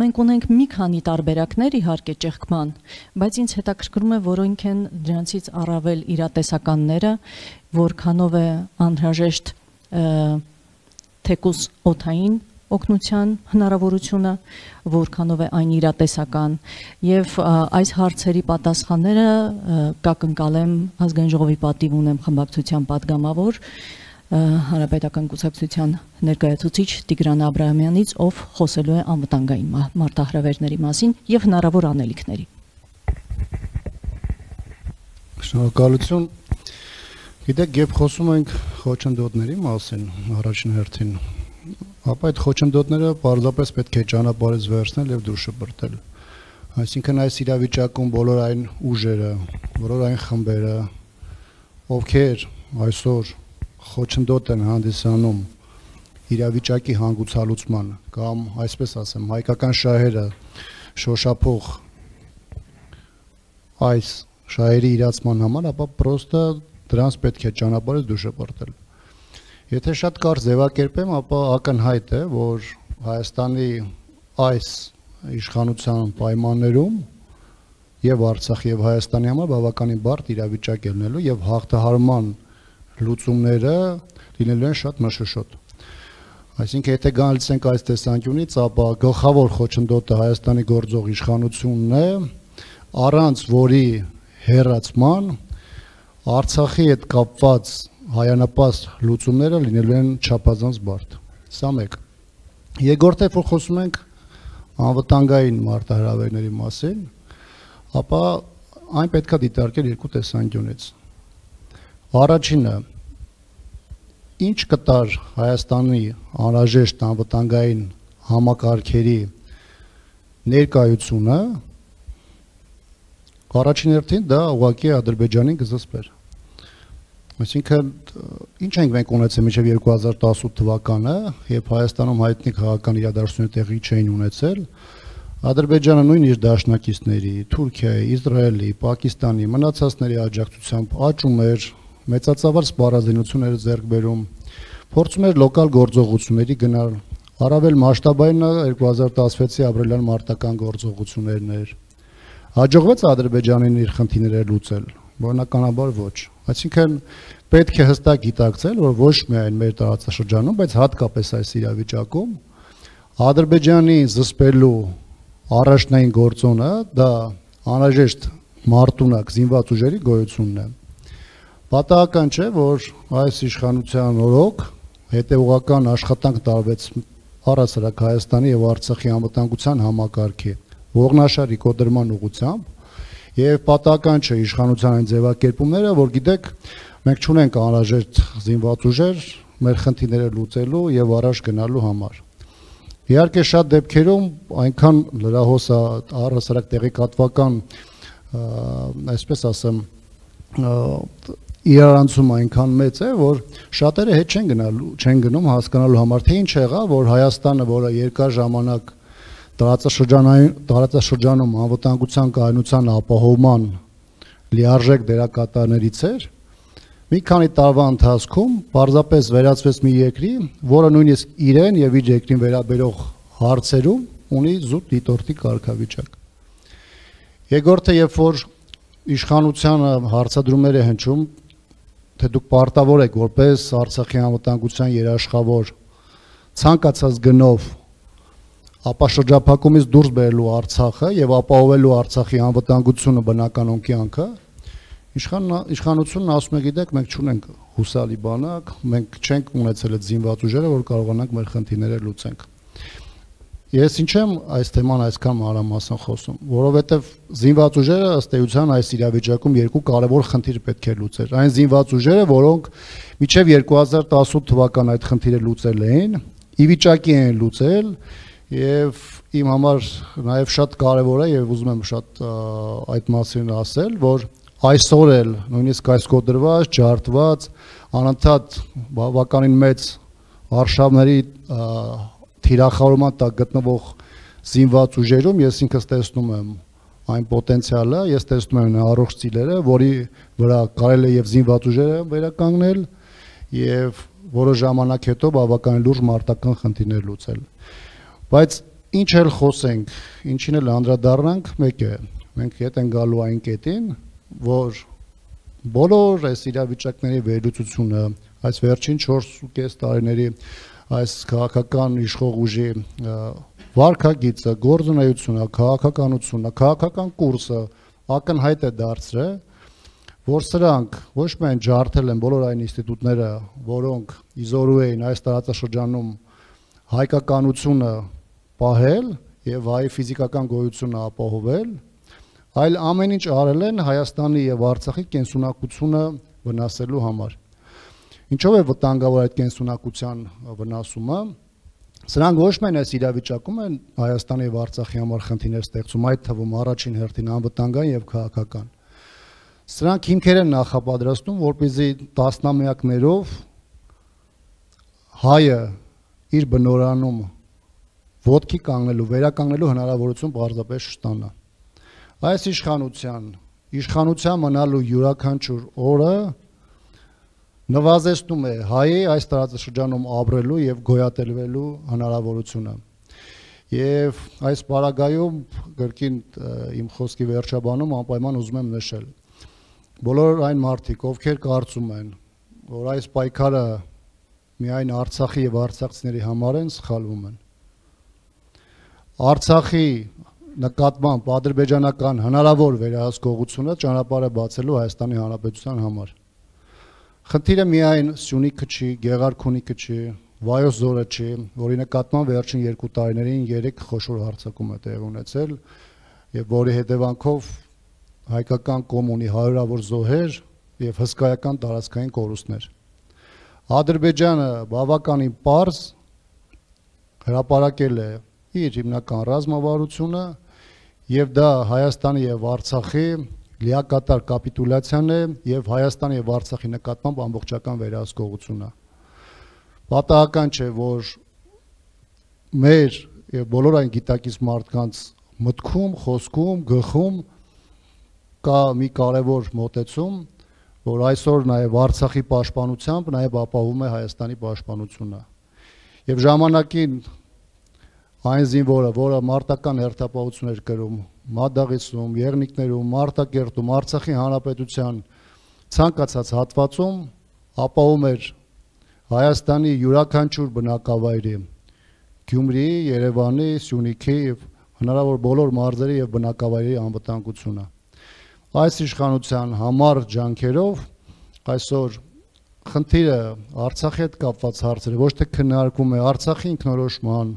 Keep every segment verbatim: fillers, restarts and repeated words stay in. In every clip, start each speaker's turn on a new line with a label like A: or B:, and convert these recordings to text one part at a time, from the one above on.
A: մենք ունենք մի քանի տարբերակներ իհարկե ճեղքման, բայց ինձ հետաքրքրում է որոնք են դրանցից առավել իրատեսականները, որքանով է անհրաժեշտ թեկուզ օդային օգնության հնարավորությունը, որքանով է այն իրատեսական, եւ այս հարցերի պատասխանները կակնկալեմ ազգային ժողովի պատիվ ունեմ խմբակցության պատգամավոր Հանրապետական կուսակցության ներկայացուցիչ Տիգրան Աբրահամյանից, ով խոսելու է անվտանգային մարտահրավերների մասին եւ հնարավոր անելիքների։
B: Շնորհակալություն։ Գիտեք, երբ խոսում ենք խոչընդոտների մասին, առաջին հերթին, ապա այդ խոչընդոտները պարզապես պետք է ճանապարհից վերցնել եւ դուրս շպրտել։ Այսինքն այս իրավիճակում բոլոր այն ուժերը, բոլոր այն խմբերը, ովքեր այսօր խոչընդոտ են հանդիսանում իրավիճակի հանգուցալուծման կամ այսպես ասեմ հայկական շահերը շոշափող այս շահերի իրացման համար, ապա պրոստը դրանց պետք է ճանապարհից դուրս շպրտել։ Եթե շատ կարճ ձևակերպեմ, ապա ակնհայտ է, որ Հայաստանի այս իշխանության պայմաններում եւ Արցախի եւ Հայաստանի համար բավականին բարդ իրավիճակ է լինելու եւ հաղթահարման լուծումները լինելու են շատ մշուշոտ։ Այսինքն եթե գալիս ենք այս տեսանկյունից, ապա գլխավոր խոչընդոտը Հայաստանի գործող իշխանությունն է, առանց որի հերացման Արցախի հետ կապված հայանապաստ լուծումները լինելու են չափազանց բարդ։ Սա մեկ։ Երկրորդը, որ խոսում ենք անվտանգային մարտահրավերների մասին, ապա այն պետք է դիտարկել երկու տեսանկյունից։ Առաջինը, ինչ կտար Հայաստանի անհրաժեշտ անվտանգային համակարգերի ներկայությունը, առաջին հերթին դա ուղղակի Ադրբեջանին կզսպեր։ Այսինքն, ինչ ենք մենք ունեցել մինչև երկու հազար տասութ թվականը, երբ Հայաստանում հայտնի քաղաքական իրադարձությունները տեղի չէին ունեցել, Ադրբեջանը նույն իր դաշնակիցների, Թուրքիայի, Իսրայելի, Պակիստանի, մնացածների աջակցությամբ աճում էր, մեծածավալ սպառազինություններ ձեռք բերում, փորձում էր լոկալ գործողությունների գնալ, առավել մասշտաբայինը երկու հազար տասնվեցի ապրիլյան մարտական գործողություններն էր։ Հաջողվեց Ադրբեջանին իր խնդիրները լուծել, բնականաբար ոչ։ Այսինքն պետք է հստակ գիտակցել, որ ոչ միայն մեր տարածաշրջանում, բայց հատկապես այս իրավիճակում Ադրբեջանի զսպելու առաջնային գործոնը դա անհրաժեշտ մարտունակ զինված ուժերի գոյությունն է։ Պատահական չէ, որ այս իշխանության օրոք հետևողական աշխատանք տարվեց առհասարակ Հայաստանի եւ Արցախի անվտանգության համակարգի ողնաշարի կոտրման ուղղությամբ եւ պատահական չէ իշխանության այն ձևակերպումները, որ գիտեք, մենք չունենք անհրաժեշտ զինված ուժեր մեր խնդիրները լուծելու եւ առաջ գնալու համար։ Իհարկե շատ դեպքերում այնքան լրահոս առհասարակ տեղեկատվական, այսպես ասեմ, իրարանցում այնքան մեծ է, որ շատերը հետ չեն գնալու, չեն գնում հասկանալու համար, թե ինչ եղավ, որ Հայաստանը, որը երկար ժամանակ տարածաշրջանում անվտանգության կայունության ապահովման լիարժեք դերակատարներից էր, մի քանի տարվա ընթացքում պարզապես վերածվեց մի երկրի, որը նույնիսկ իրեն եւ իր երկրին վերաբերող հարցերում ունի զուտ դիտորդի կարգավիճակ։ Երկրորդը, երբ որ իշխանությանը հարցադրումներ է հնչում, թե դուք պարտավոր եք որպես Արցախի անվտանգության երաշխավոր ցանկացած գնով ապա շրջափակումից դուրս բերելու Արցախը եւ ապահովելու Արցախի անվտանգությունը բնականon կյանքը, իշխանությունն ասում է, գիտեք, մենք չունենք հուսալի բանակ, մենք չենք ունեցել այդ զինված ուժերը, որ կարողանանք մեր խնդիրները լուծենք։ Ես ինչ եմ այս թեման այսքան մանրամասն խոսում, որովհետեւ զինված ուժերը ըստ էության այս իրավիճակում երկու կարևոր խնդիր պետք է լուծեր։ Այն զինված ուժերը, որոնք մինչեւ երկու հազար տասութ թվական այդ խնդիրը լուծել էին, ի վիճակի են լուծել եւ իմ համար նաեւ շատ կարեւոր է եւ ուզում եմ շատ այդ մասին ասել, որ այսօր էլ նույնիսկ այս կոտրված, ջարդված, անընդհատ բավականին մեծ արշավների թիրախավորման տակ գտնվող զինված ուժերում ես ինքս տեսնում եմ այն պոտենցիալը, ես տեսնում եմ առողջ ծիլերը, որի վրա կարելի է եւ զինված ուժերը վերականգնել եւ որոշ ժամանակ հետո բավականին լուրջ մարտական խնդիրներ լուծել։ Բայց ինչ էլ խոսենք, ինչին էլ անդրադառնանք, մեկ է, մենք հետ են գալու այն կետին, որ բոլոր այս իրավիճակների վերլուծությունը, այս վերջին չորս ու կես տարիների այս քաղաքական իշխող ուժի վարքագիծը, գործունեությունը, քաղաքականությունը, քաղաքական կուրսը ակնհայտ է դարձրել, որ սրանք ոչ միայն ջարդել են բոլոր այն ինստիտուտները, որոնք իզորու էին այս տարածաշրջանում հայկականությունը պահել եւ հայ ֆիզիկական գոյությունը ապահովել, այլ ամեն ինչ արել են Հայաստանի եւ Արցախի կենսունակությունը վնասելու համար։ Ինչով է վտանգավոր այդ կենսունակության վնասումը։ Սրանք ոչ միայն այս իրավիճակում են Հայաստանի եւ Արցախի համար խնդիրներ ստեղծում, այդ թվում առաջին հերթին անվտանգային եւ քաղաքական։ Սրանք հիմքեր են նախապատրաստում, որպեսզի տասնամյակներով հայը իր բնորանում ոտքի կանգնելու, վերականգնելու հնարավորություն պարզապես չստանա։ Այս իշխանության, իշխանության մնալու յուրաքանչյուր օրը նվազեցնում է հայի այս տարածաշրջանում ապրելու եւ գոյատևելու հնարավորությունը։ Եվ այս պարագայում գրքին իմ խոսքի վերջաբանում անպայման ուզում եմ նշել։ Բոլոր այն մարդիկ, ովքեր կարծում են, որ այս պայքարը միայն Արցախի եւ արցախցիների համար են, սխալվում են։ Արցախի նկատմամբ ադրբեջանական հնարավոր վերահսկողությունը ճանապարհ է բացելու Հայաստանի Հանրապետության համար։ Խնդիրը միայն Սյունիքը չի, Գեղարքունիքը չի, Վայոց ձորը չի, որի նկատմամբ վերջին երկու տարիներին երեք խոշոր հարձակում է տեղի ունեցել եւ որի հետևանքով հայկական կոմունի հարյուրավոր զոհեր եւ հսկայական տարածքային կորուստներ։ Ադրբեջանը բավականին պարզ հրապարակել է իր հիմնական ռազմավարությունը եւ դա Հայաստանի եւ Արցախի լիակատար կապիտուլյացիան է եւ Հայաստանի եւ Արցախի նկատմամբ ամբողջական վերահսկողությունն է։ Պատահական չէ, որ մեր եւ բոլոր այն գիտակից մարդկանց մտքում, խոսքում, գլխում կա մի կարևոր մոտեցում, որ այսօր նաեւ Արցախի պաշտպանությամբ նաեւ ապահովում է Հայաստանի պաշտպանությունը։ Եվ ժամանակին այն զինվորը, որը մարտական հերթապահություն էր կրում Մադաղիսում, Եղնիկներում, Մարտակերտում, Արցախի Հանրապետության ցանկացած հատվածում ապահովում էր Հայաստանի յուրաքանչյուր բնակավայրի, Գյումրիի, Երևանի, Սյունիքի եւ հնարավոր բոլոր մարզերի եւ բնակավայրերի անվտանգությունը։ Այս իշխանության համար ջանքերով այսօր խնդիրը Արցախի հետ կապված հարցերը ոչ թե քննարկվում է Արցախի ինքնորոշման,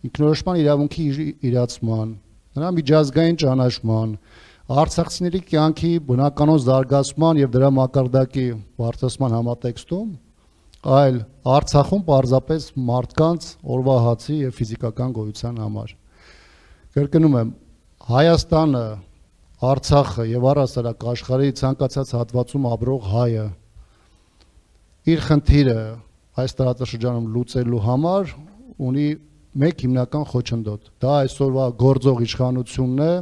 B: ինքնորոշման իրավունքի իրացման, նրա միջազգային ճանաչման, արցախցիների կյանքի բնականոն զարգացման եւ դրա մակարդակի բարձրացման համատեքստում, այլ Արցախում պարզապես մարդկանց օրվա հացի եւ ֆիզիկական գոյության համար։ Կրկնում եմ, Հայաստանը, Արցախը եւ առհասարակ աշխարհի ցանկացած հատվածում ապրող հայը իր խնդիրը այս տարածաշրջանում լուծելու համար ունի մեկ հիմնական խոչընդոտ։ Դա այսօրվա գործող իշխանությունն է,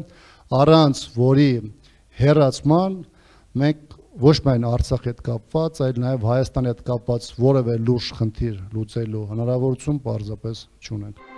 B: առանց որի հերացման մենք ոչ միայն Արցախի հետ կապված, այլ նաև Հայաստանի հետ կապված որևէ լուրջ խնդիր լուծելու հնարավորություն պարզապես չունենք։